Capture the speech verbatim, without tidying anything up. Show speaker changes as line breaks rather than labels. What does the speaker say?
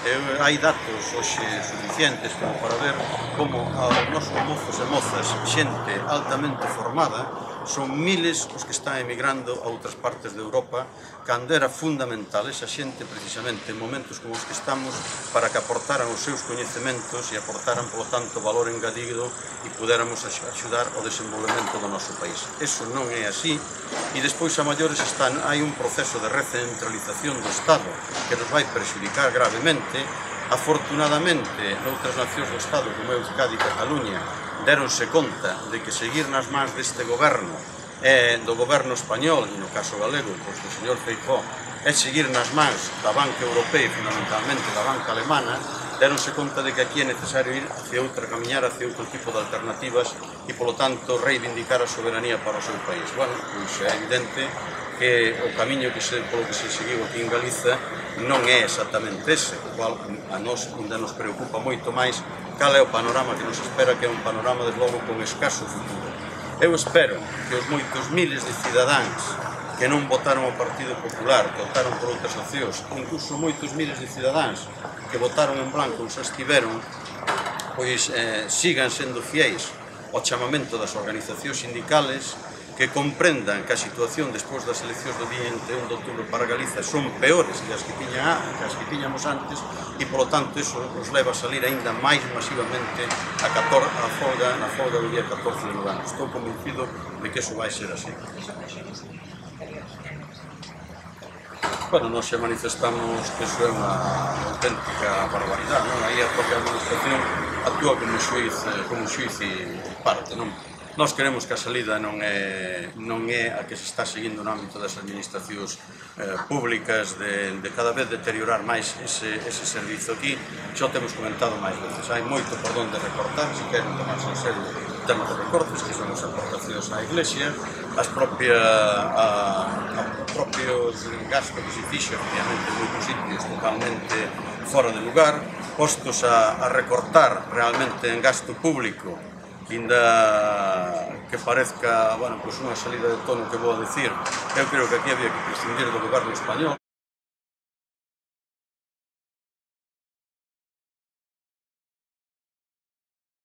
E hai datos hoxe suficientes como para ver como os nosos mozos e mozas, xente altamente formada, son miles os que están emigrando a outras partes de Europa, cando era fundamental esa xente precisamente en momentos como os que estamos para que aportaran os seus coñecementos e aportaran, polo tanto, valor engadido e pudéramos axudar ao desenvolvemento do noso país. Eso non é así e despois a maiores están, hai un proceso de recentralización do Estado que nos vai prexudicar gravemente. Afortunadamente, noutras nacións do Estado, como Euskadi e Cataluña, deronse conta de que seguir nas mans deste goberno e do goberno español, e no caso galego, pois do señor Feijóo, é seguir nas mans da banca europea e fundamentalmente da banca alemana, deronse conta de que aquí é necesario ir hacia outra, camiñar hacia outro tipo de alternativas e, polo tanto, reivindicar a soberanía para o seu país. Bueno, pois é evidente que o camiño que se, polo que se seguiu aquí en Galiza non é exactamente ese, o cual a nós ainda nos preocupa moito máis cal é o panorama que nos espera, que é un panorama, desde logo, con escaso futuro. Eu espero que os moitos miles de cidadáns que non votaron ao Partido Popular, que votaron por outras opcións, incluso moitos miles de cidadáns que votaron en blanco ou xa estiveron, pois eh, sigan sendo fiéis ao chamamento das organizacións sindicales, que comprendan que a situación despois das eleccións do día vinte e un de outubro para Galiza son peores que as que, tiña, que as que tiñamos antes e, polo tanto, iso nos leva a salir aínda máis masivamente a, catorce, a folga, na folga do día catorce de novembro. Estou convencido de que iso vai ser así. Bueno, nós xa manifestamos que iso é unha auténtica barbaridade, non? Aí a propia administración actúa como xuiz, como xuiz e parte, non? Nós queremos que a salida non é, non é a que se está seguindo no ámbito das administracións eh, públicas de, de cada vez deteriorar máis ese, ese servizo aquí. Xa o temos comentado máis veces, hai moito por donde recortar, se queren tomarse en serio o tema de recortes, que son as aportacións á Iglesia, as propia, a, a propios gastos que se fixo, obviamente, en moitos sitios totalmente fora de lugar, postos a, a recortar realmente en gasto público, inda que parezca, bueno, pois unha salida de tono que vou a decir, eu creo que aquí había que prescindir do goberno español.